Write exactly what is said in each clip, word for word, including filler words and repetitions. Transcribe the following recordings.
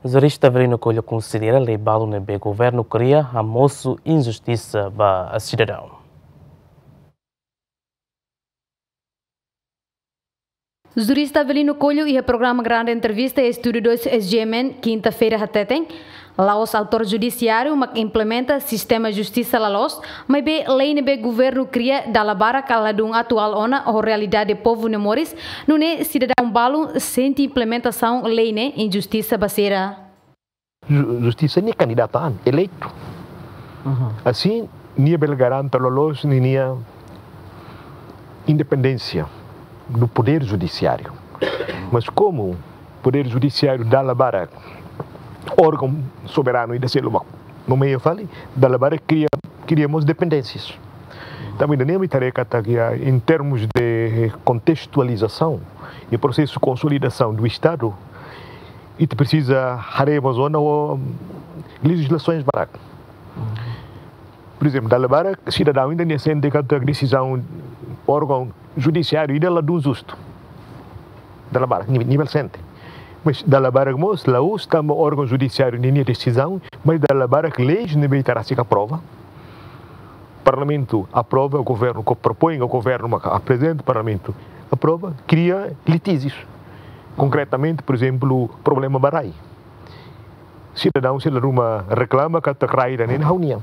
Jurista Avelino Coelho konsidera lei balu ne'ebé governu kria hamosu injustisa ba sidadaun. Jurista Avelino Coelho iha programa Grande Entrevista iha Estúdiu dois S G M N, kinta-feira hateten, la'ós autór judisiáriu mak implementa sistema justisa la loos, maibé lei ne'ebé governu kria dala barak ka ladún atuál ona ho realidade povu nia moris, nune'e sidadaun balu sente implementasaun lei ne'e injustisa ba sira. Ju-, justisa nia kandidata an, eleitu. Uhum. Asin, nia bele garante loloos ninia independénsia do poder judiciário. Mas como poder judiciário dala barak órgaun soberanu ida seluk mak nomeia fali, dala barak kria, kria mós dependénsias. Tanba ida-ne'e ami haree katak iha, em termos de contextualização e processo de consolidação do Estado, ita presiza haree mós ona ho lejizlasoens barak. Por exemplo, dala barak sidadaun ida-ne'e sente katak desizaun órgaun judisiáriu ida ladún justu. Dala barak, ni-, nivel sente. Mas dala barak mós la'ós tanba órgaun judisiáriu ninia desizaun, mas dala barak leis ne'ebé ita rasik aprova. Parlamentu aprova, governu ko propoin, governu maka aprezenta, parlamentu aprova, kria litíjius. Konkretamente, por exemplo, problema ba rai. Sidadaun sira ruma reklama katak rai ida-ne'e ha'u-nian.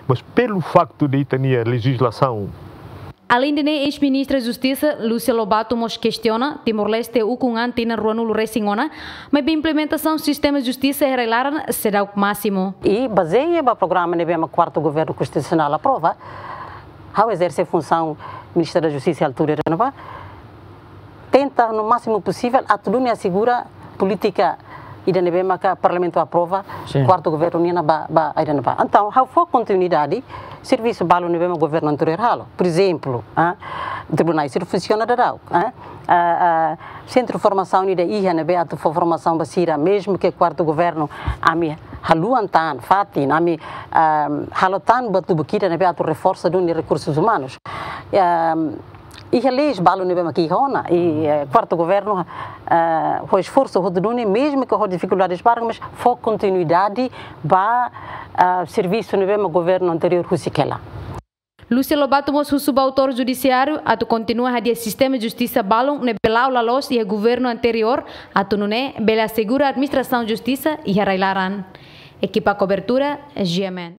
Mas pelo facto de ita-nia lejizlasaun. Aleinde ne'e, eis-ministra Justisa, Lúcia Lobato, mós kestiona, Timor-Leste ukun an tinan ruanulu resin ona, maibé implementasaun sistema justisa iha rai-laran seidauk másimu. I bazeia ba programa ne'ebé mak kuartu governu konstitusionál aprova, ha'u ezerse funsaun Ministra da Justisa altura ne'ebá, tenta no másimu posivel atu duni asegura polítika ida ne'ebé maka parlamentu aprova, sin, kuartu governu nian ba, ba ida ne'ebá. Entaun, ha'u fó kontinuidade servisu balu ne'ebé mak governu anteriór halo. Por ezemplu, ah, tribunais sira funsiona daudaun, ah, ah, ah, sentru formasaun ida iha ne'ebé atu fó formasaun ba sira, mezmu ke kuartu governu ami haluan tan, fatin, ami, ah, halo tan buat tubuki ida ne'ebé atu reforsa duni rekursus umanus. Ah, iha leis balu ne'ebé mak iha ona, i, eh, kuartu governu, eh, ho esforsu hotu duni, mezmu ke ho difikuldades barak, mas fó kontinuidade ba, eh, servisu ne'ebé mak governu anteriór husik hela. Lúcia Lobato mós husu ba autór judisiáriu atu kontinua hadi'a sistema justisa balun ne'ebé la'o la loos iha governu anteriór, atu nune'e bele asegura administrasaun justisa iha rai-laran. Ekipa kobertura, G M N.